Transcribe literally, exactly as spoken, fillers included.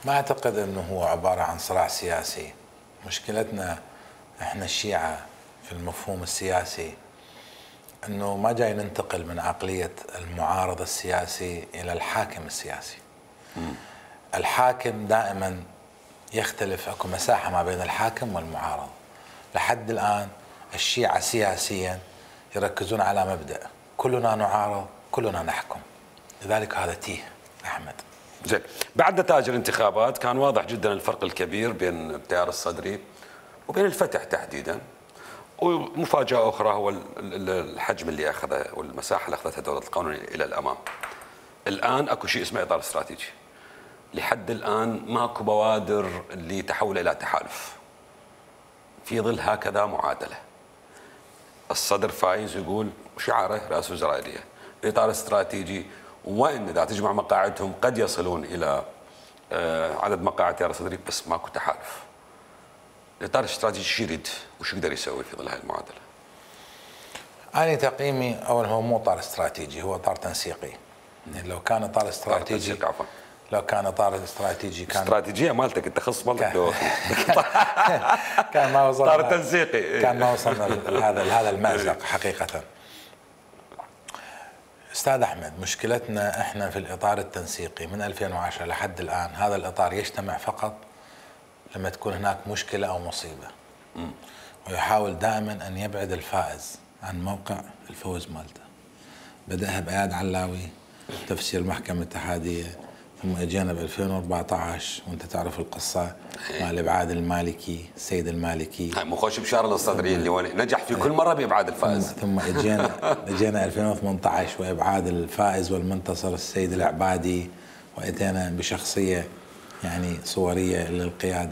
ما اعتقد انه هو عباره عن صراع سياسي. مشكلتنا احنا الشيعه في المفهوم السياسي انه ما جاي ننتقل من عقليه المعارض السياسي الى الحاكم السياسي. م. الحاكم دائما يختلف، اكو مساحه ما بين الحاكم والمعارض. لحد الان الشيعه سياسيا يركزون على مبدا كلنا نعارض كلنا نحكم، لذلك هذا تيه احمد. زين، بعد نتائج الانتخابات كان واضح جدا الفرق الكبير بين التيار الصدري وبين الفتح تحديدا، ومفاجاه اخرى هو الحجم اللي اخذه والمساحه اللي اخذتها دوله القانون الى الامام. الان اكو شيء اسمه اطار استراتيجي. لحد الان ماكو بوادر لتحول الى تحالف. في ظل هكذا معادله. الصدر فايز يقول شعاره رئاسه وزرائيه، اطار استراتيجي، وان اذا تجمع مقاعدهم قد يصلون الى عدد مقاعد تيار الصدري، بس ماكو تحالف. الاطار الاستراتيجي شو يريد وش يقدر يسوي في ظل هاي المعادله؟ أنا تقييمي أولا هو مو اطار استراتيجي، هو اطار تنسيقي. يعني لو كان اطار استراتيجي تنسيق عفوا لو كان اطار استراتيجي كان استراتيجيه مالتك انت خص مالتك كان, كان ما وصلنا اطار تنسيقي كان ما وصلنا لهذا لهذا المأزق حقيقه. استاذ احمد، مشكلتنا احنا في الاطار التنسيقي من ألفين وعشرة لحد الان، هذا الاطار يجتمع فقط لما تكون هناك مشكله او مصيبه. م. ويحاول دائما ان يبعد الفائز عن موقع الفوز مالته. بدأها بإياد علاوي تفسير المحكمة الاتحادية، ثم اجينا ب ألفين وأربعة عشر وانت تعرف القصة مال ابعاد المالكي، السيد المالكي. هاي مو خوش بشار الصدري اللي هو نجح في كل مرة بإبعاد الفائز. ثم اجينا اجينا ألفين وثمانية عشر وابعاد الفائز والمنتصر السيد العبادي، واتينا بشخصية يعني صورية للقيادة